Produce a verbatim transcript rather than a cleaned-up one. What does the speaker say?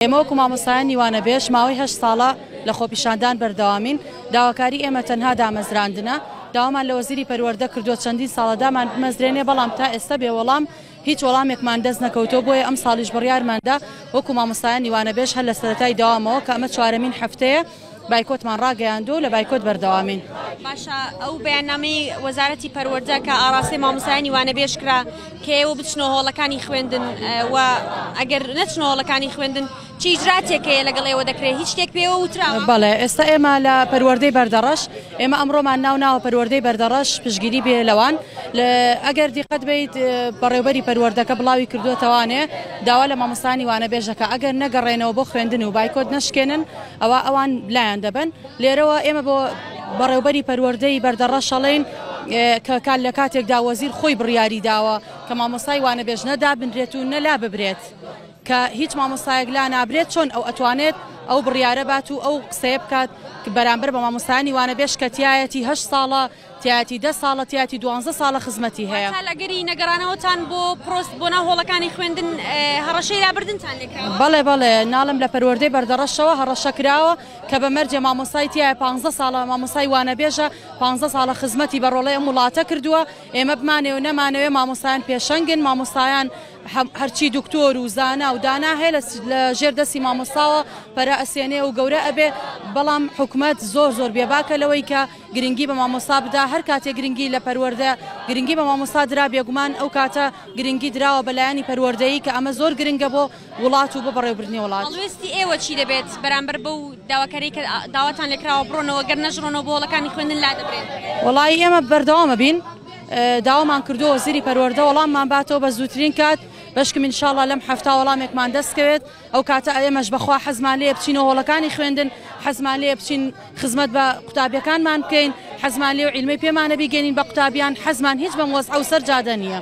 ئێمە وەکو مامۆستایانی وانەبێژ ماوەی هەشت ساڵە لە خۆپیشاندان بەردەوامین. داواکاری ئێمە تەنها دامەزراندنە. داوامان لە وەزیری پەروەردە کردووە چەندین ساڵە دامان بمەزرێنێ، بەڵام تا ئێستا بێ وەڵام هیچ وەڵامێکمان دەست نەکەوتەوە. بۆیە ئەم ساڵیش بڕیارماندا وەکو مامۆستایانی وانەبێژ هەر لە سەرەتای داوامەوە کە ئەمە چوارەمین هەفتەیە بایکۆتمان ڕاگەیاندووە و لە بایکۆت بەردەوامین. باشە، ئەو بەیاننامەی وەزارەتی پەروەردە کە ئاراستەی مامۆستایانی وانەبێژ کرا کە ئێوە بچنەوە هۆڵەکانی خوێندن و ئەگەر نەچنەوە هۆڵەکانی خوێندن چی ئیجراتێک هەیە لەگەڵ ئێوە دەکرێت؟ هیچ شتێک پێوە وتراوە؟ بەڵێ، ئێستا ئێمە لە پەروەردەی بەردەڕەش، ئێمە ئەمڕۆمان ناو ناوە پەروەردەی بەردەڕەش پشتگیری بێ لەوان. ئەگەر دیقەت بیت بەڕێوبەری پەروەردەکە بڵاوی کردووەتەوانێ داوا لە مامۆستایانی وانەبێژەکە ئەگەر نەگەڕێنەوە بۆ خوێندن و بایکۆت نەشکێنن ئەوە ئەوان لایان دەبن. لێرەوە ئێمە بۆ بەڕێوبەری پەروەردەی بەردەڕەش ئەڵێین کە کار لە کاتێکدا وەزیر خۆی بڕیاری داوە کە مامۆستای وانەبێژ نەدابنرێت و نەلا ببرێت، کە هیچ مامۆستایەک لا نابرێت، چۆن ئەو ئەتوانێت ئەو بڕیارە بات و ئەو قسەیە بکات بەرامبەر بە مامۆستایانی وانەبێژ کە تایەتی هەشت ساڵە، تایەتی دە ساڵە، تایەتی دوانزە ساڵە خزمەتی هەیە. تا لەگەری نەگەڕانەوەتان بۆ پرۆست بۆ ناو هۆڵەکانی خوێندن هەڕەشەی لابردنتان لێکراوە؟ بەڵێ بەڵێ، ناڵم لە پەروەردەی بەردەڕەشەوە هەڕەشە کراوە کە بە مەرجێ مامۆستای تایە پانزە ساڵە مامۆستای وانەبێژە، پانزە ساڵە خزمەتی بە ڕۆڵەی ئەم وڵاتە کردووە. ئێمە بمانەوێ و نەمانەوێ مامۆستایان پێشەنگن، مامۆستایان هەرچی دکتۆر و زانا و دانا هەیە لە ژێر دەستی مامۆستاوە پەرە ئەسێنێ و گەورە ئەبێ. بەڵام حکومەت زۆر زۆر بێباکە لەوەی کە گرنگی بە مامۆستا بدا. هەر کاتێک گرنگی لە پەروەردە گرنگی بە مامۆستا درا، بێگومان ئەو کاتە گرنگی دراوە بەلایەنی پەروەردەیی کە ئەمە زۆر گرنگە بۆ وڵات و بۆ بەڕێوەبردنی وڵات. هەڵوێستی ئێوە چی دەبێت بەرامبەر بەو داواکاری کە داواتان لێکراوە بڕۆنەوە گەر نەژڕۆنەوە بۆ هۆڵەکانی خوێندن لا دەبرێن؟ وەڵایی ئێمە بەردەوامە بین. داوامان کردووە وەزیری پەروەردە وەڵاممان باتەوە بە زووترین کات، بەشکم ئینشاڵڵا لەم هەفتا وەڵامێکمان دەستکەوێت. ئەو کاتە ئێمەش بەخوا حەزمان لێ بچینەوە هۆڵەکانی خوێندن، حەزمان لێ بچین خزمەت بە قوتابیەکانمان بکەین، حەزمان لێ و عیلمەی پێمانە بیگەینین بە قوتابیان، حەزمان هیچ بەم وەزعە و سەر جادە نییە.